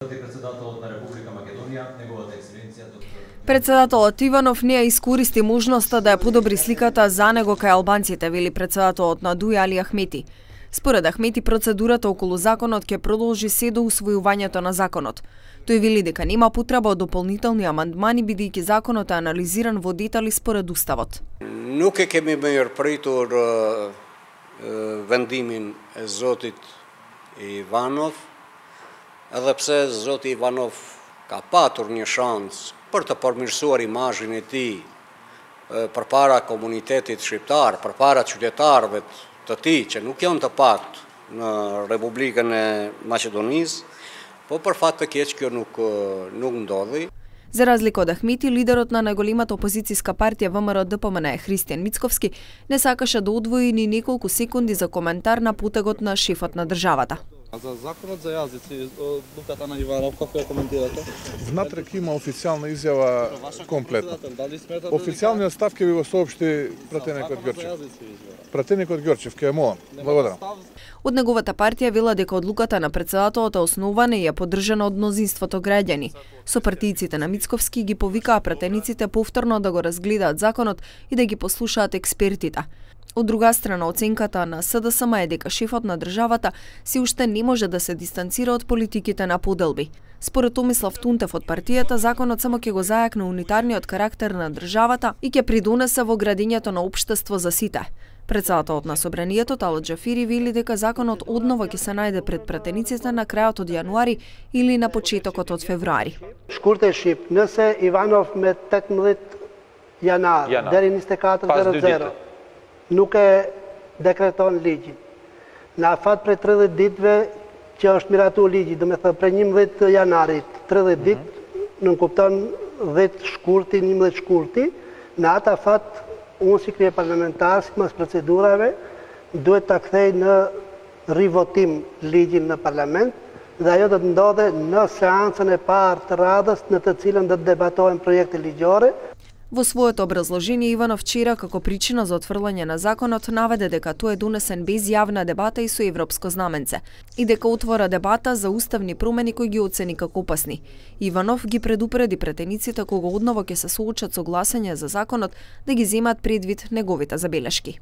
Председателот на Република Македонија, неговата ексцеленција доктор. Председателот Иванов не ја искористи можноста да ја подобри сликата за него кај албанците, вели председателот на ДУИ Али Ахмети. Според Ахмети, процедурата околу законот ќе продолжи се до усвојувањето на законот. Тој вели дека нема потреба од дополнителни амандмани, бидејќи законот е анализиран во детали според уставот. Nuk e kemi mirëpritur vendimin e zotit Ivanov, edhe pse zoti Ivanov ka patur një shans për të përmirësuar imazhin e tij përpara komunitetit shqiptar, përpara qytetarëve të tij që nuk janë të patë në Republikën e Maqedonisë, po për fat të keq kjo nuk ndodhi. За разлика од Ахмети, лидерот на најголемата опозицијска партија ВМРО-ДПМН Христијан Мицковски не сакаше да одвои ни неколку секунди за коментар на потегот на шефот на државата. За законот за јазици, одлуката на Иванов, како ја коментирате? Внатре има официјална изјава комплетно. Официјалниот став ќе ви го соопшти пратеникот Ѓорчев. Пратеникот Ѓорчев ќе е моја. Благодарам. Од неговата партија вела дека одлуката на председателот е основана и е поддржана од мнозинството граѓани. Сопартијците на Мицковски ги повикаа пратениците повторно да го разгледаат законот и да ги послушаат експертите. Од друга страна, оценката на СДСМ е дека шефот на државата се уште не може да се дистанцира од политиките на поделби. Според Томислав Тунтев од партијата, законот само ќе го зајакне унитарниот карактер на државата и ќе придонесе во градењето на општество за сите. Председателот на собранието Талат Џафири вели дека законот одново ќе се најде пред пратениците на крајот од јануари или на почетокот од февруари. Shkurte shqip, nëse Ivanov me 18 janar deri 24:00 nuk e dekreton ligjin. Në afat për 30 ditëve që është miratu ligji, do me thë për 11 janarit, 30 ditë, nën kupton 10 shkurti, 11 shkurti, në atë afat unë si krye parlamentar, si mas procedurave, duhet të kthej në rivotim ligjin në parlament, dhe ajo do të ndodhe në seancën e parë të radhës në të cilën do të debatohen projekte ligjore. Во своето образложение Иванов вчера како причина за отфрлање на законот наведе дека тој е донесен без јавна дебата и со европско знаменце и дека отвора дебата за уставни промени кои ги оцени како опасни. Иванов ги предупреди претениците кога одново ќе се соочат со гласање за законот да ги земат предвид неговите забелешки.